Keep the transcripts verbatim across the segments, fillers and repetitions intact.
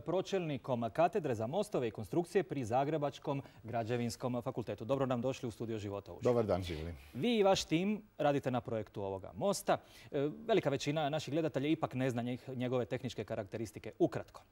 Pročelnikom katedre za mostove i konstrukcije pri Zagrebačkom građevinskom fakultetu. Dobro nam došli u studio Života uživo. Dobar dan, živjeli. Vi i vaš tim radite na projektu ovoga mosta. Velika većina naših gledatelja ipak ne zna njegove tehničke karakteristike. Ukratko.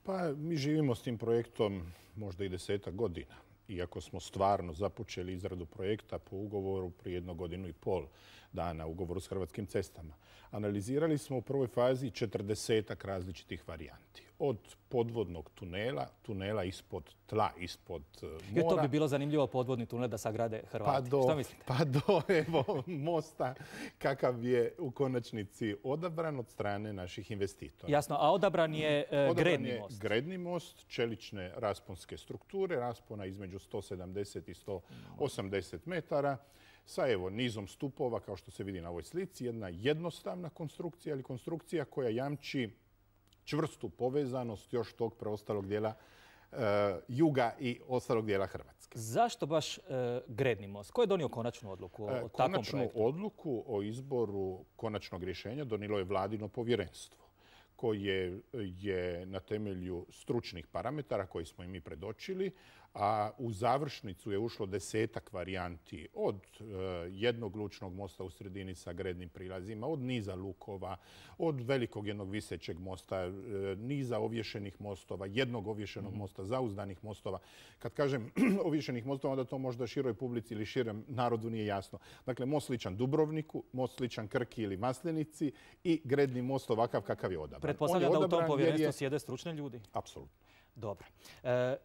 Pa mi živimo s tim projektom možda i desetak godina. Iako smo stvarno započeli izradu projekta po ugovoru prije jednu godinu i pol dana, ugovoru s Hrvatskim cestama. Analizirali smo u prvoj fazi četrdesetak različitih varijanti. Od podvodnog tunela, tunela ispod tla, ispod mora. I to bi bilo zanimljivo, podvodni tunel da sagrade Hrvati. Pa do, Što mislite? Pa do evo, mosta kakav je u konačnici odabran od strane naših investitora. Jasno, a odabran je e, odabran gredni je most. Gredni most, čelične rasponske strukture, raspona između sto sedamdeset i sto osamdeset metara, sa evo nizom stupova, kao što se vidi na ovoj slici, jedna jednostavna konstrukcija, ali konstrukcija koja jamči čvrstu povezanost još tog preostalog dijela e, juga i ostalog dijela Hrvatske. Zašto baš e, gredni most? Ko je donio konačnu odluku o, o takvom Konačnu projektu? odluku o izboru konačnog rješenja donijelo je Vladino povjerenstvo, koje je na temelju stručnih parametara koji smo i mi predočili, a u završnicu je ušlo desetak varijanti od e, jednog lučnog mosta u sredini sa grednim prilazima, od niza lukova, od velikog jednog visećeg mosta, e, niza ovješenih mostova, jednog ovješenog mm-hmm. mosta, zauzdanih mostova. Kad kažem ovješenih mostova, onda to možda široj publici ili širem narodu nije jasno. Dakle, most sličan Dubrovniku, most sličan Krki ili Maslenici i gredni most ovakav kakav je odabran. Pretpostavljam da u tom povjerenstvu je... sjede stručni ljudi? Apsolutno. Dobro. E,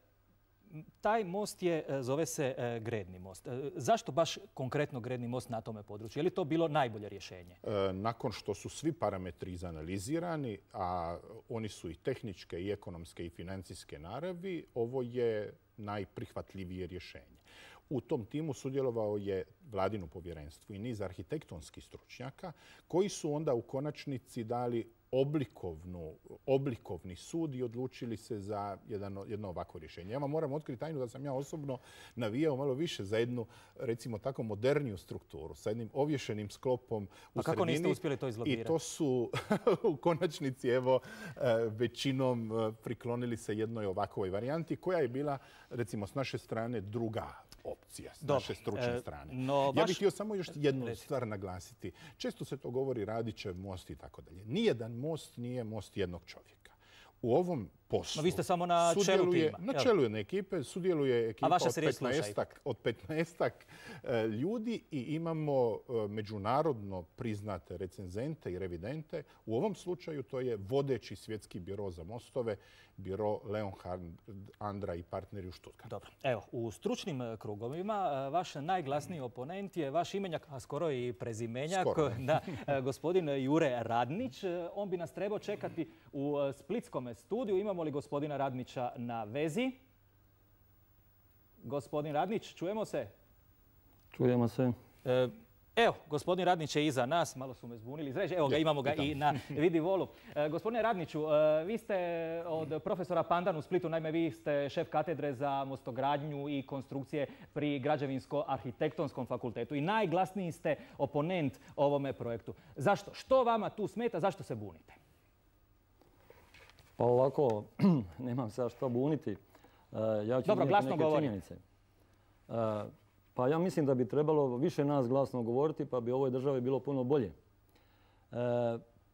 taj most je, zove se e, gredni most. E, zašto baš konkretno gredni most na tome području? Je li to bilo najbolje rješenje? E, nakon što su svi parametri izanalizirani, a oni su i tehničke, i ekonomske, i financijske naravi, ovo je najprihvatljivije rješenje. U tom timu sudjelovao je Vladino povjerenstvo i niz arhitektonskih stručnjaka koji su onda u konačnici dali oblikovnu, oblikovni sud i odlučili se za jedan, jedno ovako rješenje. Ja vam moram otkriti tajnu da sam ja osobno navijao malo više za jednu, recimo tako, moderniju strukturu, sa jednim ovješenim sklopom u sredini. Pa kako niste uspjeli to izlobirati? I to su u konačnici, evo, većinom priklonili se jednoj ovakvoj varijanti koja je bila, recimo, s naše strane druga opcija, s naše stručne e, strane. No, ja bih htio samo još jednu Reci. stvar naglasiti. Često se to govori Radićev most i tako dalje. Nijedan most nije most jednog čovjeka. U ovom poslu... No, vi ste samo na čelu tima. Na čelu jedne ekipe sudjeluje ekipa od petnaestak, od petnaestak e, ljudi i imamo e, međunarodno priznate recenzente i revidente. U ovom slučaju to je vodeći svjetski biro za mostove, biro Leonhard, Andra i partneri u Stuttgartu. Dobro. Evo, u stručnim krugovima vaš najglasniji oponent je vaš imenjak, a skoro i prezimenjak, da, gospodin Jure Radnić. On bi nas trebao čekati u splitskom studiju. Imamo li gospodina Radnića na vezi? Gospodin Radnić, čujemo se? Čujemo se. E, evo, gospodin Radnić je iza nas, malo su me zbunili. Zređe, evo ga, imamo ga i na vidi volu. E, gospodine Radniću, e, vi ste od profesora Pandan u Splitu, naime vi ste šef katedre za mostogradnju i konstrukcije pri Građevinsko-arhitektonskom fakultetu i najglasniji ste oponent ovome projektu. Zašto? Što vama tu smeta? Zašto se bunite? Pa ovako, nemam se što buniti. Ja ću Dobro, glasno neke govorim. Činjenice. Pa ja mislim da bi trebalo više nas glasno govoriti, pa bi ovoj državi bilo puno bolje.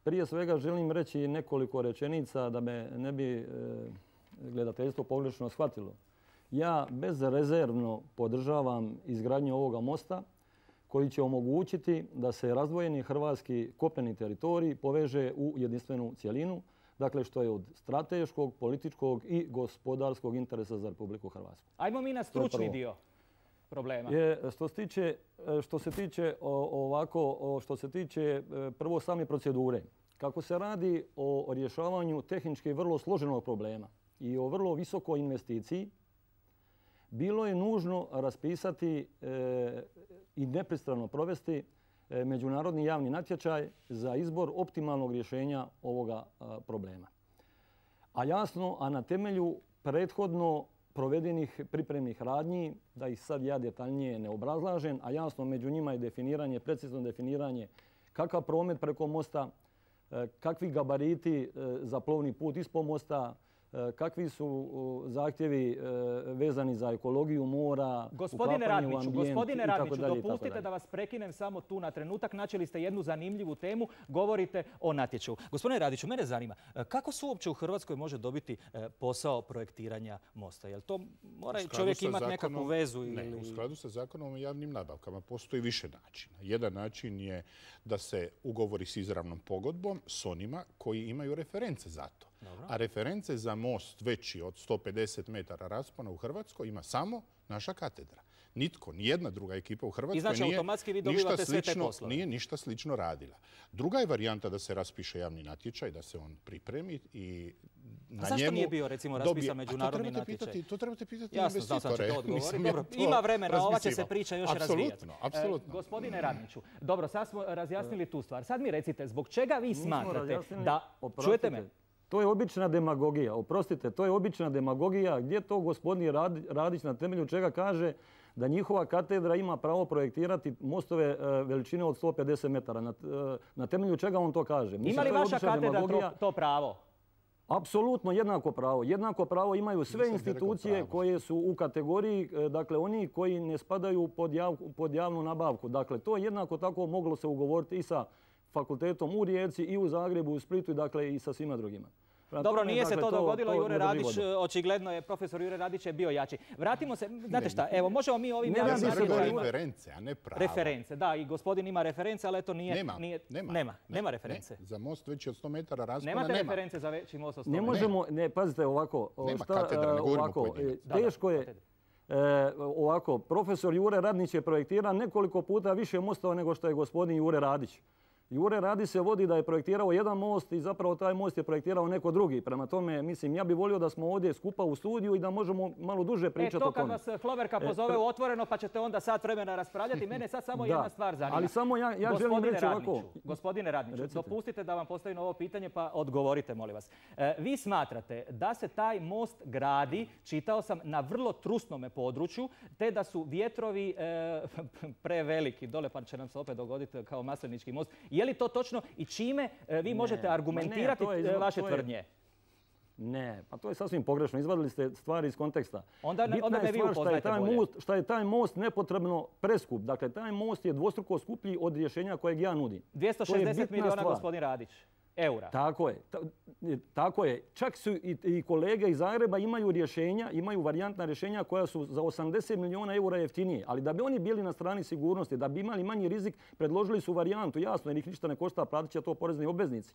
Prije svega želim reći nekoliko rečenica da me ne bi gledateljstvo pogrešno shvatilo. Ja bezrezervno podržavam izgradnju ovoga mosta koji će omogućiti da se razdvojeni hrvatski kopneni teritorij poveže u jedinstvenu cjelinu, dakle što je od strateškog, političkog i gospodarskog interesa za Republiku Hrvatsku. Ajmo mi na stručni dio problema. Je, što se tiče, što se tiče ovako, što se tiče prvo same procedure. Kako se radi o rješavanju tehnički vrlo složenog problema i o vrlo visokoj investiciji, bilo je nužno raspisati e, i nepristrano provesti međunarodni javni natječaj za izbor optimalnog rješenja ovoga problema. A jasno, a na temelju prethodno provedenih pripremnih radnji, da ih sad ja detaljnije ne obrazlažem, a jasno među njima je definiranje, precizno definiranje kakav promet preko mosta kakvi gabariti za plovni put ispod mosta, kakvi su zahtjevi vezani za ekologiju mora, Gospodine Radniću, gospodine Radniću, dopustite da vas prekinem samo tu na trenutak. Načeli ste jednu zanimljivu temu, govorite o natječaju. Gospodine Radiću, mene zanima, kako se uopće u Hrvatskoj može dobiti posao projektiranja mosta? Jel to mora čovjek imati nekakvu vezu? Ne, u skladu sa zakonom o javnim nabavkama postoji više načina. Jedan način je da se ugovori s izravnom pogodbom s onima koji imaju reference za to. Dobro. A reference za most veći od sto pedeset metara raspona u Hrvatskoj ima samo naša katedra. Nitko, nijedna druga ekipa u Hrvatskoj znači, nije, ništa slično, nije ništa slično radila. Druga je varijanta da se raspiše javni natječaj, da se on pripremi i na A zašto njemu nije bio recimo raspisan međunarodni natječaj? Pitati, to trebate pitati Jasno, investitore. Jasno, znam sam će to odgovoriti. Ima vremena, ova će se priča još razvijati. Apsolutno, apsolutno. E, gospodine Radniću, dobro, sad smo razjasnili tu stvar. Sad mi recite, zbog čega vi smatrate da... Čujete me? To je obična demagogija, oprostite, to je obična demagogija. Gdje to gospodin Radić na temelju čega kaže da njihova katedra ima pravo projektirati mostove veličine od sto pedeset metara? Na, na temelju čega on to kaže? Ima li vaša katedra to, to pravo? Apsolutno jednako pravo. Jednako pravo imaju sve institucije koje su u kategoriji, dakle oni koji ne spadaju pod, jav, pod javnu nabavku. Dakle, to jednako tako moglo se ugovoriti i sa fakultetom u Rijeci i u Zagrebu, u Splitu, dakle i sa svima drugima. Dobro, nije se to dogodilo. Jure Radić, očigledno je, profesor Jure Radić je bio jači. Vratimo se, znate šta, evo, možemo mi ovim... Nema reference, a ne pravo. Reference, da, i gospodin ima reference, ali eto nije... Nema, nije, nema. Nema, nema reference. Ne, za most veći od sto metara raspona Nemate nema. Nemate reference za veći most od sto metara? Ne možemo, ne, pazite ovako. Nema katedra, ne govorimo ovako, teško je... E, ovako, profesor Jure Radnić je projektirao nekoliko puta više mostova nego što je gospodin Jure Radić. Jure Radić se vodi da je projektirao jedan most i zapravo taj most je projektirao neko drugi. Prema tome, mislim, ja bih volio da smo ovdje skupa u studiju i da možemo malo duže pričati o tome. E, to kad vas Hloverka pozove u Otvoreno pa ćete onda sat vremena raspravljati. Mene sad samo jedna stvar zanima. Ali samo ja, ja želim reći ovako. Gospodine Radniću, recite. Dopustite da vam postavim ovo pitanje pa odgovorite, molim vas. E, vi smatrate da se taj most gradi, čitao sam, na vrlo trusnome području, te da su vjetrovi e, preveliki. Dole pa će nam se opet dogoditi kao Maslenički most. Je li to točno i čime vi ne, možete argumentirati ne, je, vaše tvrdnje? Ne, pa to je sasvim pogrešno. Izvadili ste stvari iz konteksta. Onda, Bitna onda me vi upoznajte bolje. Most, šta je taj most nepotrebno preskup. Dakle, taj most je dvostruko skuplji od rješenja kojeg ja nudim. dvjesto šezdeset milijuna, gospodin Radić. Eura. Tako je. Ta, tako je. Čak su i, i kolege iz Zagreba imaju rješenja, imaju varijantna rješenja koja su za osamdeset milijuna eura jeftinije. Ali da bi oni bili na strani sigurnosti, da bi imali manji rizik, predložili su varijantu. Jasno, jer ih ništa ne košta, platit će to porezni obveznici.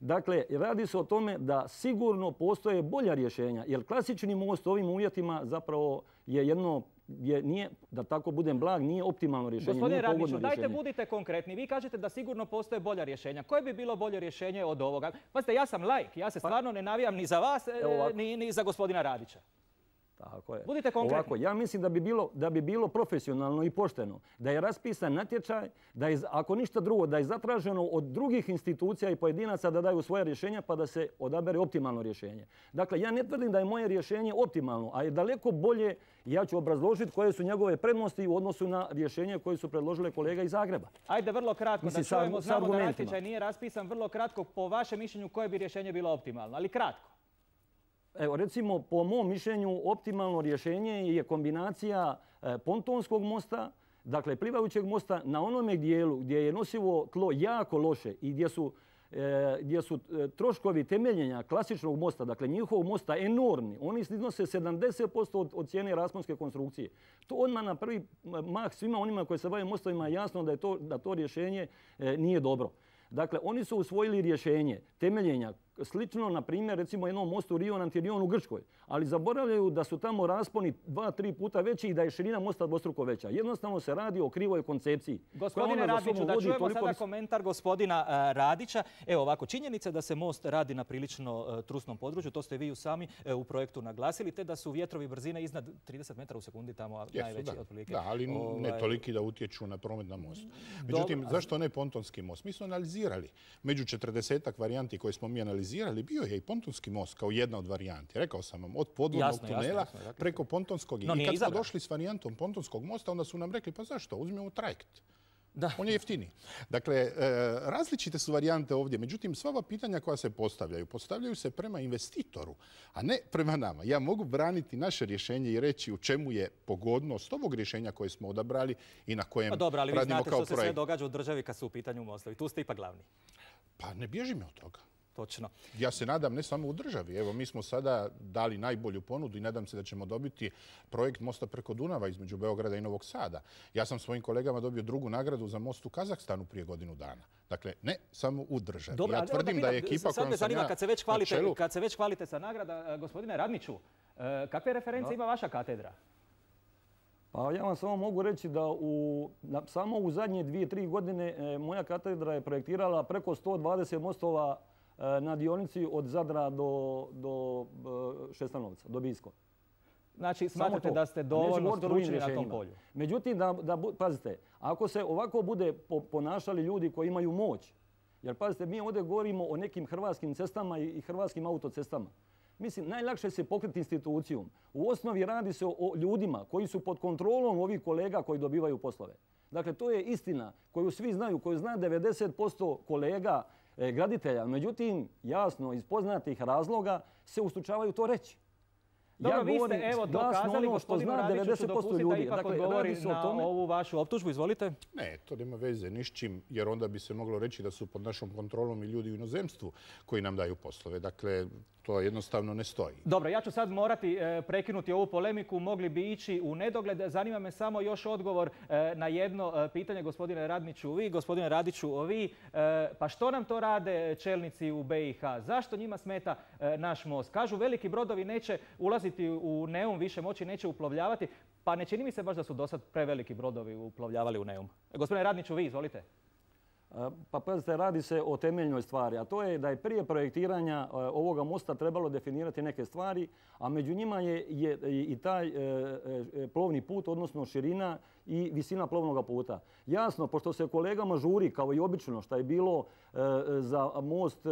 Dakle, radi se o tome da sigurno postoje bolja rješenja, jer klasični most u ovim uvjetima zapravo je jedno, je, nije, da tako budem blag, nije optimalno rješenje. Gospodine Radniću, dajte budite konkretni. Vi kažete da sigurno postoje bolja rješenja. Koje bi bilo bolje rješenje od ovoga? Pazite, ja sam laik, ja se stvarno ne navijam ni za vas, ni, ni za gospodina Radića. Tako je. Budite konkretni. Ovako, ja mislim da bi, bilo, da bi bilo profesionalno i pošteno da je raspisan natječaj, da je, ako ništa drugo, da je zatraženo od drugih institucija i pojedinaca da daju svoje rješenja pa da se odabere optimalno rješenje. Dakle, ja ne tvrdim da je moje rješenje optimalno, a je daleko bolje, ja ću obrazložiti koje su njegove prednosti u odnosu na rješenje koje su predložile kolega iz Zagreba. Ajde, vrlo kratko, mislim, da čujemo, znamo da natječaj nije raspisan, vrlo kratko, po vašem mišljenju koje bi rješenje bilo optimalno, ali kratko. Evo, recimo, po mom mišljenju, optimalno rješenje je kombinacija pontonskog mosta, dakle plivajućeg mosta, na onome dijelu gdje je nosivo tlo jako loše i gdje su, e, gdje su troškovi temeljenja klasičnog mosta, dakle njihovog mosta enormni. Oni iznose sedamdeset posto od, od cijene rasponske konstrukcije. To odmah na prvi mah svima onima koji se bave mostovima je jasno da, je to, da to rješenje e, nije dobro. Dakle, oni su usvojili rješenje temeljenja slično, na primjer, recimo jednom mostu Rion Antirion u Grčkoj, ali zaboravljaju da su tamo rasponi dva, tri puta veći i da je širina mosta dvostruko veća. Jednostavno se radi o krivoj koncepciji. Gospodine Radniću, da čujemo sada vis... komentar gospodina uh, Radića. Evo ovako, činjenica da se most radi na prilično uh, trusnom području, to ste vi u sami uh, u projektu naglasili, te da su vjetrovi brzine iznad trideset metara u sekundi tamo Jesu, najveći da. otprilike. Da, ali ovaj... ne toliki da utječu na promet na mostu. Međutim, Dobre. zašto ne pontonski most? Mi smo analizirali među četrdesetak varijanti koje smo mi analizirali, bio je i pontonski most kao jedna od varijanti. Rekao sam vam, od podvodnog jasno, tunela jasno, jasno, preko pontonskog. No, I kad smo došli s varijantom pontonskog mosta, onda su nam rekli, pa zašto, uzmemo trajekt. Da. On je jeftiniji. Dakle, različite su varijante ovdje. Međutim, sva ova pitanja koja se postavljaju, postavljaju se prema investitoru, a ne prema nama. Ja mogu braniti naše rješenje i reći u čemu je pogodnost ovog rješenja koje smo odabrali i na kojem radimo kao projekt. Dobro, ali vi znate što se sve događa u državi kad su u pitanju mostovi. Tu ste ipak glavni. Pa ne bježimo od toga. Točno. Ja se nadam ne samo u državi. Evo, mi smo sada dali najbolju ponudu i nadam se da ćemo dobiti projekt mosta preko Dunava između Beograda i Novog Sada. Ja sam svojim kolegama dobio drugu nagradu za most u Kazahstanu prije godinu dana. Dakle, ne samo u državi. Dobro, ja tvrdim da je ekipa kojom sam ja kad se već hvalite, kad se već hvalite sa nagrada, gospodine Radniću, kakve reference ima vaša katedra? Pa ja vam samo mogu reći da u, na, samo u zadnje dvije, tri godine e, moja katedra je projektirala preko sto dvadeset mostova e, na dionici od Zadra do, do e, Šestanovca, do Bisko. Znači, smatrate da ste dovoljno stručni na tom polju? Međutim, da, da, pazite, ako se ovako bude po, ponašali ljudi koji imaju moć, jer pazite, mi ovdje govorimo o nekim hrvatskim cestama i, i hrvatskim autocestama. Mislim, najlakše se pokriti institucijom. U osnovi radi se o ljudima koji su pod kontrolom ovih kolega koji dobivaju poslove. Dakle, to je istina koju svi znaju, koju zna devedeset posto kolega e, graditelja. Međutim, jasno, iz poznatih razloga se ustručavaju to reći. Dobro, ja vi ste evo dokazali, gospodinu Radiću, dopustite da ipak odgovori na tome. Ovu vašu optužbu. Izvolite. Ne, to nema veze ni s čim, jer onda bi se moglo reći da su pod našom kontrolom i ljudi u inozemstvu koji nam daju poslove. Dakle, to jednostavno ne stoji. Dobro, ja ću sad morati e, prekinuti ovu polemiku. Mogli bi ići u nedogled. Zanima me samo još odgovor e, na jedno e, pitanje, gospodine Radniću, vi, gospodine Radiću, vi. E, pa što nam to rade čelnici u B i H? Zašto njima smeta e, naš most? Kažu, veliki brodovi neće ulaziti u Neum, više moći neće uplovljavati. Pa ne čini mi se baš da su do sad preveliki brodovi uplovljavali u Neum. E, gospodine Radniću, vi, izvolite. Pa pazite, radi se o temeljnoj stvari, a to je da je prije projektiranja ovoga mosta trebalo definirati neke stvari, a među njima je, je i taj e, plovni put, odnosno širina i visina plovnog puta. Jasno, pošto se kolegama žuri, kao i obično, što je bilo e, za most e,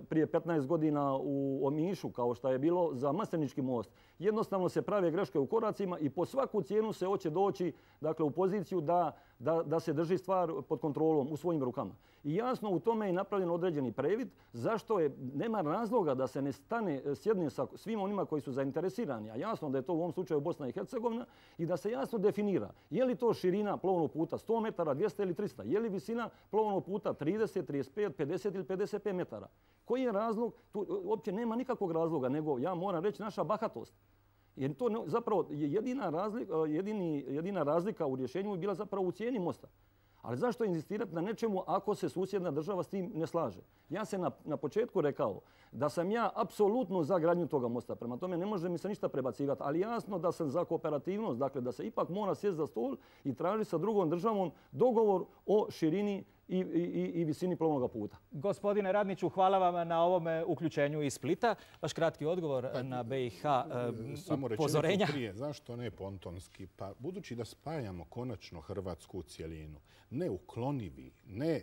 prije petnaest godina u Omišu, kao što je bilo za Maslenički most, jednostavno se prave greške u koracima i po svaku cijenu se hoće doći, dakle, u poziciju da, da, da se drži stvar pod kontrolom u svojim rukama. I jasno, u tome je napravljen određeni previd, zašto je, nema razloga da se ne stane, sjedne sa svim onima koji su zainteresirani, a jasno da je to u ovom slučaju Bosna i Hercegovina, i da se jasno definira je li to širina plovnog puta sto metara, dvjesto ili tristo, je li visina plovnog puta trideset, trideset pet, pedeset ili pedeset pet metara. Koji je razlog? Tu uopće nema nikakvog razloga, nego ja moram reći naša bahatost. Jer to zapravo jedina razlika, jedini, jedina razlika u rješenju je bila zapravo u cijeni mosta. Ali zašto inzistirati na nečemu ako se susjedna država s tim ne slaže? Ja sam na, na početku rekao da sam ja apsolutno za gradnju toga mosta. Prema tome ne može mi se ništa prebacivati. Ali jasno da sam za kooperativnost. Dakle, da se ipak mora sjesti za stol i tražiti sa drugom državom dogovor o širini i, i, i visini plovnog puta. Gospodine Radniću, hvala vam na ovom uključenju iz Splita. Vaš kratki odgovor pa, na B i H samo upozorenja. Prije, zašto ne pontonski? Pa budući da spajamo konačno Hrvatsku u cjelinu, neuklonivi, ne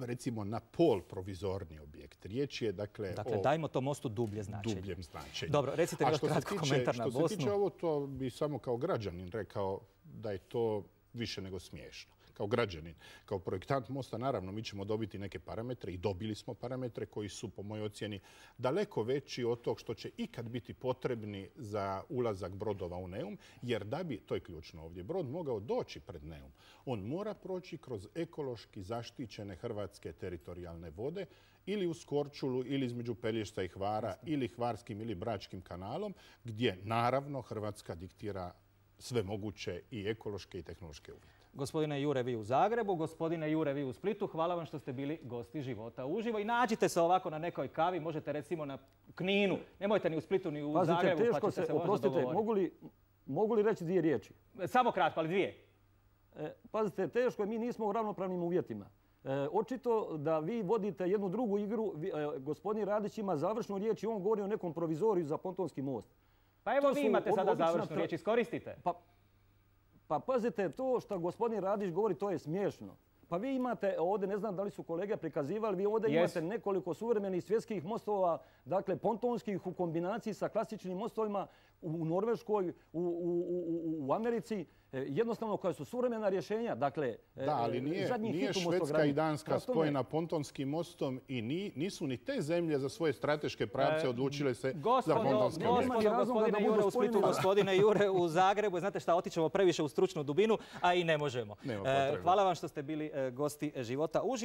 recimo na pol provizorni objekt. Riječ je dakle, dakle o dajmo to mostu dublje značenje. Dubljem značenju. Dobro, recite još kratko komentar na Bosnu. Što se tiče ovo, to bi samo kao građanin rekao da je to više nego smiješno. Kao građanin, kao projektant mosta, naravno, mi ćemo dobiti neke parametre i dobili smo parametre koji su, po mojoj ocjeni, daleko veći od tog što će ikad biti potrebni za ulazak brodova u Neum, jer da bi, to je ključno ovdje, brod mogao doći pred Neum, on mora proći kroz ekološki zaštićene hrvatske teritorijalne vode ili uz Korčulu, ili između Pelješca i Hvara, ili Hvarskim ili Bračkim kanalom, gdje, naravno, Hrvatska diktira sve moguće i ekološke i tehnološke uvjete. Gospodine Jure, vi u Zagrebu, gospodine Jure, vi u Splitu, hvala vam što ste bili gosti Života uživo i nađite se ovako na nekoj kavi, možete recimo na Kninu, nemojte ni u Splitu ni u Pazite, Zagrebu, teško pa ćete se, se oprostite, možda mogu li, mogu li reći dvije riječi? Samo kratko, ali dvije. E, pazite, teško je, mi nismo u ravnopravnim uvjetima. E, očito da vi vodite jednu drugu igru, vi, e, gospodin Radić ima završnu riječ i on govori o nekom provizoriju za pontonski most. Pa evo to vi imate sada završnu riječ, iskoristite. Pa, Pa pazite, to što gospodin Radić govori, to je smiješno. Pa vi imate ovdje, ne znam da li su kolege prikazivali, vi ovdje yes. imate nekoliko suvremenih svjetskih mostova, dakle pontonskih u kombinaciji sa klasičnim mostovima u Norveškoj, u, u, u, u Americi. jednostavno koja su suvremena rješenja. Dakle, da, ali nije, nije Švedska i Danska spojena Pontonskim mostom i ni, nisu ni te zemlje za svoje strateške pravce odlučile se gospodo, za Pontonske mjeste. Gospodine Jure u Splitu, gospodine Jure u Zagrebu. Znate šta, otićemo previše u stručnu dubinu, a i ne možemo. Hvala vam što ste bili gosti Života uživo.